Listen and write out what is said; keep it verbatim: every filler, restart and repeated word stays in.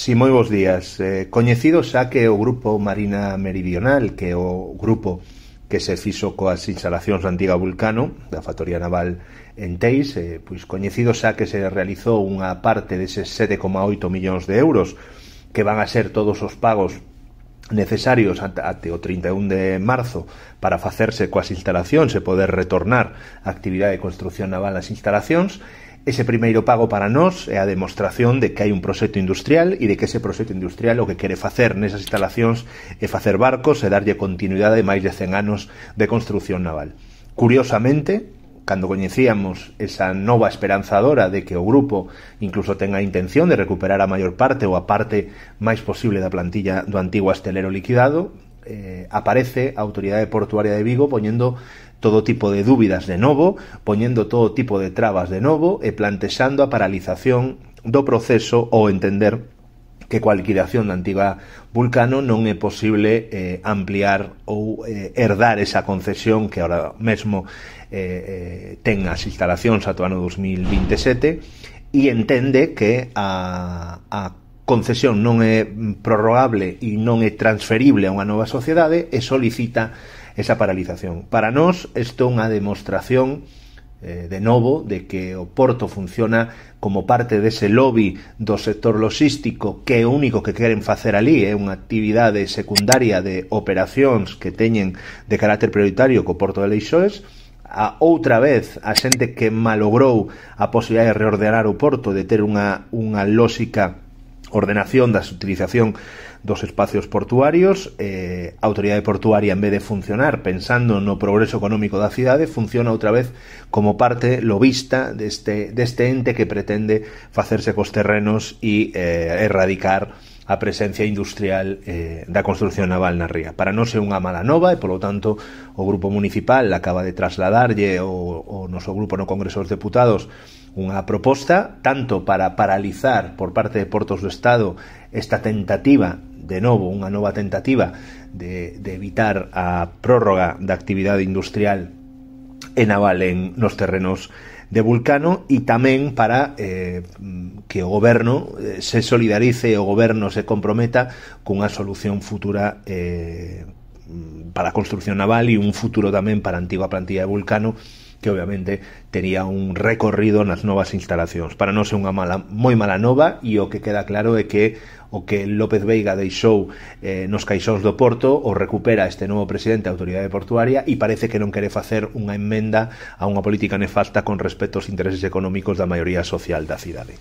Si, moi bons días. Eh, coñecido xa que o Grupo Marina Meridional, que é o grupo que se fixo coas instalacións da antiga Vulcano, da factoría naval en Teis, eh, pois coñecido xa que se realizou unha parte deses sete coma oito millóns de euros que van a ser todos os pagos necesarios até o trinta e un de marzo para facerse coas instalacións e poder retornar a actividade de construcción naval nas instalacións. Ese primeiro pago para nós é a demostración de que hai un proxecto industrial e de que ese proxecto industrial o que quere facer nesas instalacións é facer barcos e darlle continuidade de máis de cen anos de construcción naval. Curiosamente, cando coñecíamos esa nova esperanzadora de que o grupo incluso ten a intención de recuperar a maior parte ou a parte máis posible da plantilla do antigo astelero liquidado, eh, aparece a Autoridade Portuaria de Vigo poñendo todo tipo de dúbidas de novo, poñendo todo tipo de trabas de novo e plantexando a paralización do proceso ou entender que coa liquidación da antiga Vulcano non é posible eh, ampliar ou eh, herdar esa concesión que ahora mesmo eh, eh, ten as instalacións ata o ano dos mil vinte e sete e entende que a, a concesión non é prorrogable e non é transferible a unha nova sociedade e solicita esa paralización. Para nós, isto é unha demostración eh, de novo de que o porto funciona como parte dese lobby do sector logístico que é o único que queren facer ali, é unha actividade secundaria de operacións que teñen de carácter prioritario co porto de Leixões. A outra vez, a xente que malogrou a posibilidade de reordenar o porto, de ter unha, unha lógica ordenación da utilización dos espacios portuarios, eh, a Autoridade Portuaria, en vez de funcionar pensando no progreso económico da cidade, funciona outra vez como parte lobista deste, deste ente que pretende facerse cos terrenos e eh, erradicar a presencia industrial eh, da construcción naval na ría. Para nós é unha mala nova e, polo tanto, o Grupo Municipal acaba de trasladarlle o, o noso grupo no Congreso dos Deputados unha proposta tanto para paralizar por parte de Portos do Estado esta tentativa, de novo, unha nova tentativa de, de evitar a prórroga da actividade industrial e naval en nos terrenos de Vulcano e tamén para eh, que o goberno eh, se solidarice e o goberno se comprometa cunha solución futura eh, para a construcción naval e un futuro tamén para a antiga plantilla de Vulcano que obviamente tería un recorrido nas novas instalacións. Para nós é unha mala, moi mala nova e o que queda claro é que o que López Veiga deixou eh, nos caixóns do Porto o recupera este novo presidente da Autoridade Portuaria e parece que non quere facer unha emenda a unha política nefasta con respecto aos intereses económicos da maioría social da cidade.